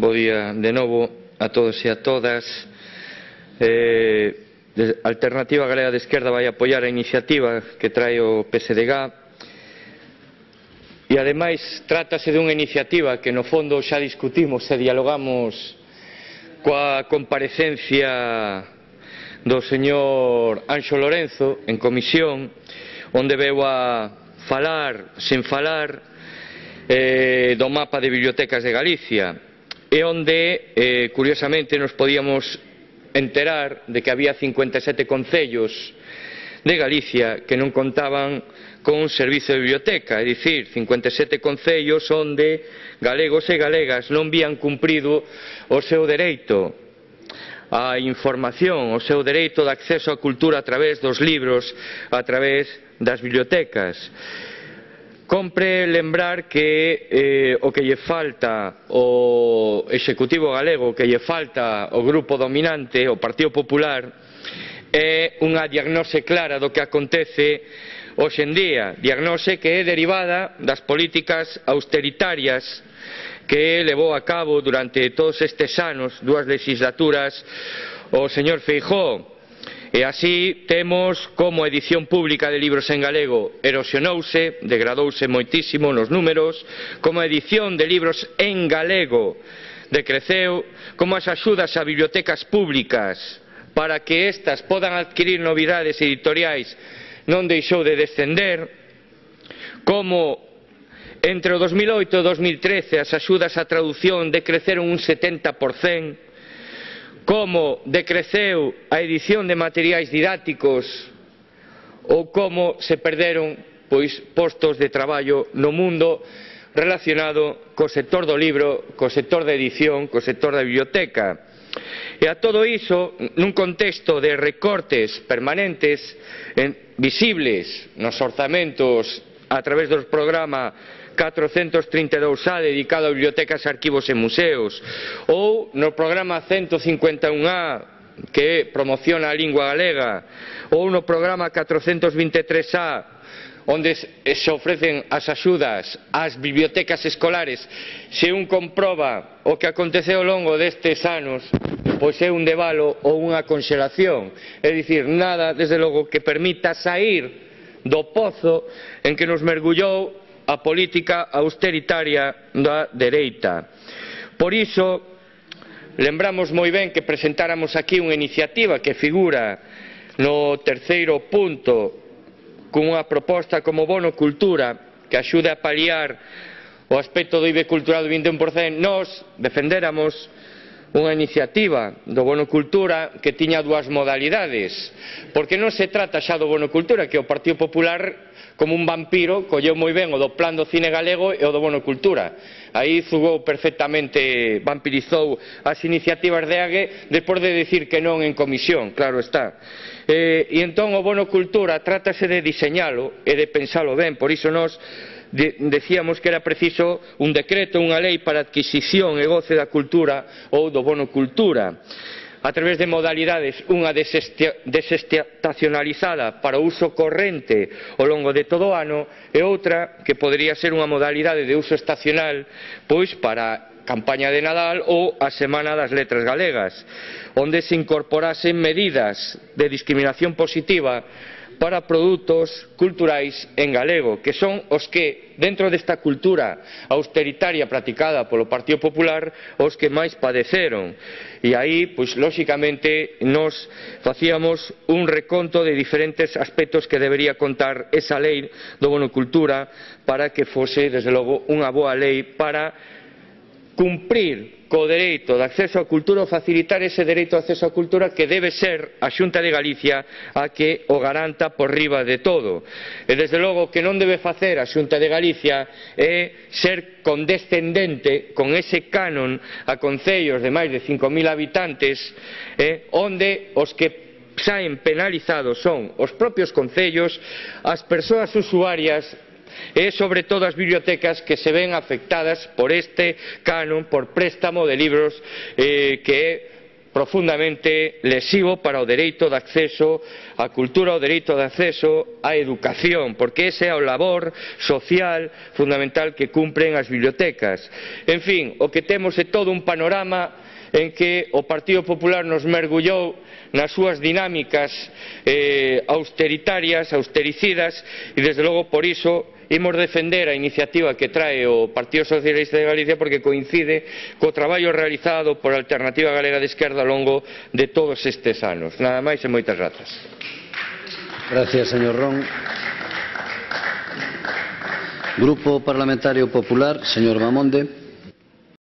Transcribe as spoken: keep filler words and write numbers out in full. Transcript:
bo día de novo a todos e a todas. eh, Alternativa Galega de Esquerda vai apoiar a iniciativa que trae o P S D G e ademais trátase dunha iniciativa que no fondo xa discutimos e dialogamos coa comparecencia do señor Anxo Lorenzo en comisión, onde veu a falar, sen falar, eh, do mapa de bibliotecas de Galicia, e onde, eh, curiosamente, nos podíamos enterar de que había cincuenta e sete concellos de Galicia que non contaban con un servizo de biblioteca, é dicir, cincuenta e sete concellos onde galegos e galegas non vían cumprido o seu dereito a información, o seu dereito de acceso á cultura a través dos libros, a través das bibliotecas. Compre lembrar que eh, o que lle falta ao Executivo galego, o que lle falta ao grupo dominante, o Partido Popular, é unha diagnose clara do que acontece hoxe en día, diagnose que é derivada das políticas austeritarias que levou a cabo durante todos estes anos, dúas legislaturas, o señor Feijóo. E así temos como a edición pública de libros en galego erosionouse, degradouse moitísimo nos números, como a edición de libros en galego decreceu, como as axudas a bibliotecas públicas para que estas podan adquirir novidades editoriais non deixou de descender, como entre o dos mil oito e o dos mil trece as axudas á traducción decreceron un setenta por cento, como decreceu a edición de materiais didácticos ou como se perderon pois, postos de traballo no mundo relacionado co sector do libro, co sector da edición, co sector da biblioteca. E a todo iso, nun contexto de recortes permanentes, en, visibles nos orzamentos a través dos programas catrocentos trinta e dous A dedicado a bibliotecas, arquivos e museos, ou no programa ciento cincuenta e un A que promociona a lingua galega, ou no programa catrocentos vinte e tres A onde se ofrecen as axudas ás bibliotecas escolares. Se un comproba o que aconteceu ao longo destes anos, pois é un debalo ou unha conxelación, é dicir, nada, desde logo, que permita saír do pozo en que nos mergullou a política austeritaria da dereita. Por iso, lembramos moi ben que presentáramos aquí unha iniciativa que figura no terceiro punto cunha proposta como bono cultura que axude a paliar o aspecto do I B E cultural do vinte e un por cento. Nós defendéramos unha iniciativa do bono cultura que tiña dúas modalidades, porque non se trata xa do bono cultura, que o Partido Popular, como un vampiro, colleu moi ben o do plan do cine galego e o do bono cultura. Aí zugou perfectamente, vampirizou as iniciativas de Ague despois de decir que non en comisión, claro está. Eh, e entón o bono cultura trátase de diseñalo e de pensalo ben, por iso nós de, decíamos que era preciso un decreto, unha lei para adquisición e goce da cultura ou do bono cultura, a través de modalidades, unha desestacionalizada para o uso corrente ao longo de todo o ano e outra que podería ser unha modalidade de uso estacional pois para a campaña de Nadal ou a Semana das Letras Galegas, onde se incorporasen medidas de discriminación positiva para produtos culturais en galego, que son os que, dentro desta cultura austeritaria practicada polo Partido Popular, os que máis padeceron. E aí, pois, lóxicamente, nos facíamos un reconto de diferentes aspectos que debería contar esa lei do bono cultura para que fose, desde logo, unha boa lei para cumprir co dereito de acceso á cultura ou facilitar ese dereito de acceso á cultura que debe ser a Xunta de Galicia a que o garanta por riba de todo. E desde logo que non debe facer a Xunta de Galicia é ser condescendente con ese canon a concellos de máis de cinco mil habitantes, eh, onde os que saen penalizados son os propios concellos, as persoas usuarias e sobre todo as bibliotecas que se ven afectadas por este canon, por préstamo de libros eh, que é profundamente lesivo para o dereito de acceso á cultura, o dereito de acceso á educación, porque ese é o labor social fundamental que cumpren as bibliotecas. En fin, o que temos é todo un panorama en que o Partido Popular nos mergullou nas súas dinámicas eh, austeritarias, austericidas, e desde logo por iso imos defender a iniciativa que trae o Partido Socialista de Galicia, porque coincide co traballo realizado por a Alternativa Galega de Esquerda ao longo de todos estes anos. Nada máis e moitas grazas. Gracias, señor Ron. Grupo Parlamentario Popular, señor Bamonde.